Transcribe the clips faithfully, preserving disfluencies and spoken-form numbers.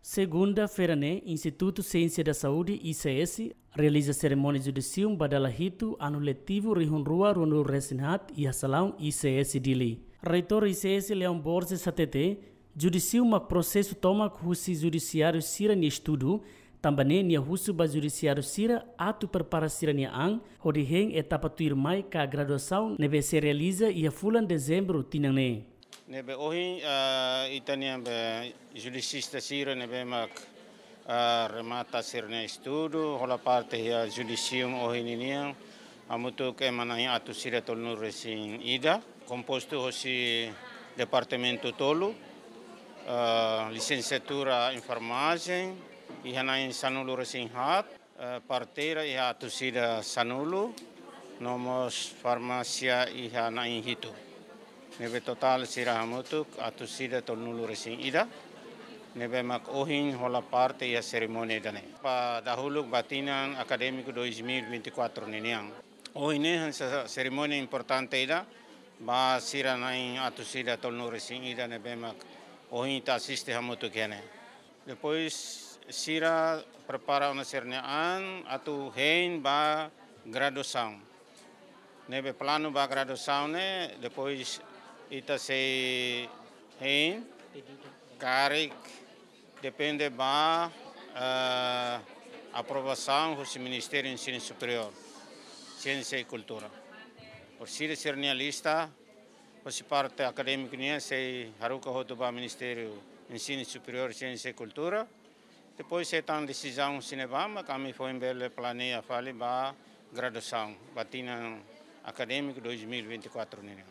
Segunda-feira ne'e, Institutu Siénsia da Saúde, I C S, realiza serimónia judisium ba dala hitu, anu letivu rihun rua ruanulu resin haat, iha salaun I C S Dili. Reitór I C S Leão Borges hatete, judisium mak prosesu tomak husi judisiáriu sira-nia estudu, tanba ne'e nia husu ba judisiáriu sira atu prepara sira-nia an, hodi hein etapa tuirmai ka graduasaun ne'ebé sei realiza iha fulan Dezembru tinan ne'e. Ne'ebé ohin, ah, ita-nia be judisista sira ne'ebé mak, ah, remata sira-nia estudu, hola parte iha judisium ohin ninian, hamutuk ema na'in atus ida tolunulu resin ida, kompostu hosi departamentu tolu, ah, lisensiatura enfermajen, iha na'in sanulu resin haat, eh, parteira iha atus ida sanulu, no mós farmásia iha na'in hitu. Ne'ebé totál sira hamutuk atus ida tolunulu resin ida. Ne'ebé mak ohin hola parte iha serimónia ida-ne'e. Ba dahuluk ba tinan akadémiku dois mil e vinte e quatro ninian. Ohin ne'e hanesan serimónia importante ida, ba sira na'in atus ida tolunulu resin ida ne'ebé mak ohin ita asiste hamutuk iha ne'e. Depois sira prepara ona sira-nia an atu hein ba graduasaun. Ne'ebé planu ba graduasaun ne'e, depois ita sei hein karik depende ba, eh, aprovasaun husi Ministériu Ensinu Superiór, Siénsia i Kultura. Por sira sira-nia lista, husi parte akadémiku nian sei haruka hotu ba Ministériu Ensinu Superiór, Siénsia i Kultura. Depois sei hetan desizaun husi ne'ebá, mak ami foin bele planeia fali ba graduasaun, ba tinan akadémiku dois mil e vinte e quatro ninian.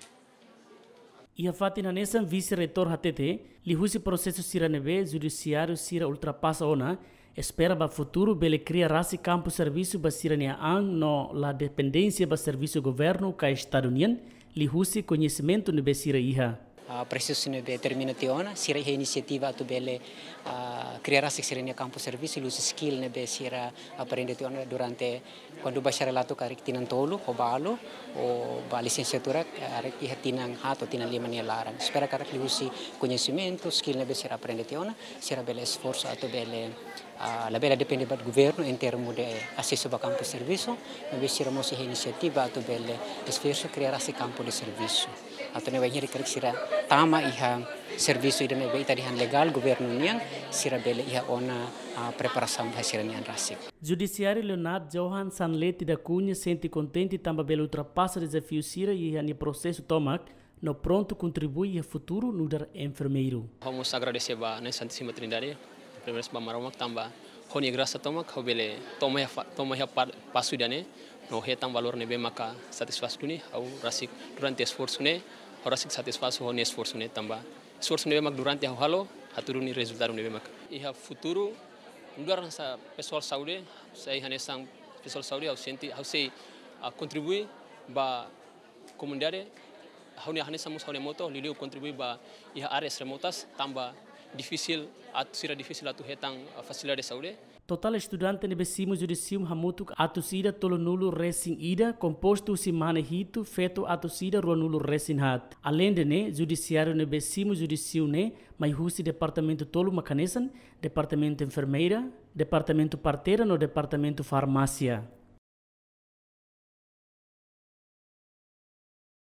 Iha fatin hanesan, vise-reitór hatete, liuhusi prosesu sira ne'ebé judisiáriu sira ultrapasa ona, espera ba futuru bele kria rasik kampu servisu ba sira-nia an no la dependénsia ba servisu governu ka estadu nian, liuhusi koñesimentu ne'ebé sira iha. Ah, presiza ne'ebé termina tiha ona, sira iha inisiativa atu bele, ah, kria rasik sira-nia kampu servisu, liuhusi skill ne'ebé sira aprende tiha ona durante kuandu bacharelatu karik tinan tolu, ho balu, ho ba lisensiatura, karik iha tinan haat to'o tinan lima nia laran. Espera karik liuhusi koñesimentu, skill ne'ebé sira aprende tiha ona, sira bele esforsu atu bele, ah, labele depende ba governu em termu de asesu ba kampu servisu, maibé sira mós iha inisiativa atu bele esforsu kria rasik kampu de servisu. Atu ne'e bainhira karik sira tama iha servisu ida ne'ebé ita dehan legál governu nian, sira bele iha ona, ah, preparasaun ba sira-nia an rasik. Judisiáriu Leonard Johan Sanleti da Cunha sente kontente tanba bele ultrapasa dezafiu sira iha nia prosesu tomak, no prontu kontribui iha futuru nu'udar enfermeiru. Ha'u mós agradese ba Na'i Santísima Trindade, primeiru ba Maromak tanba ho nia grasa tomak, ha'u bele toma iha fa-, toma iha pa-, pasu ida-ne'e, no hetan valór ne'ebé maka satisfás duni, ha'u rasik durante esforsu ne'e, ha'u rasik satisfás ho nia esforsu ne'e tanba esforsu ne'ebé mak durante ha'u halo, hatudu nia rezultadu ne'ebé mak. Iha futuru, nu'udar hanesan pesoál saúde, sai hanesan pesoál saúde, ha'u sente, ha'u sei, ah, kontribui ba komunidade, ha'u-nia hanesan mós ha'u-nia moto, liuliu kontribui ba iha áreas remotas, tanba difisil, atu sira difisil atu hetan, ah, fasilidade saúde. Totál estudante ne'ebé simu judisium hamutuk atus ida tolunulu resin ida, kompostu husi mane hitu, feto atus ida ruanulu resin haat. Aleinde ne'e, judisiáriu ne'ebé simu judisium ne'e, mai husi departamentu tolu mak hanesan, departamentu enfermeira, departamentu parteira no departamentu farmásia.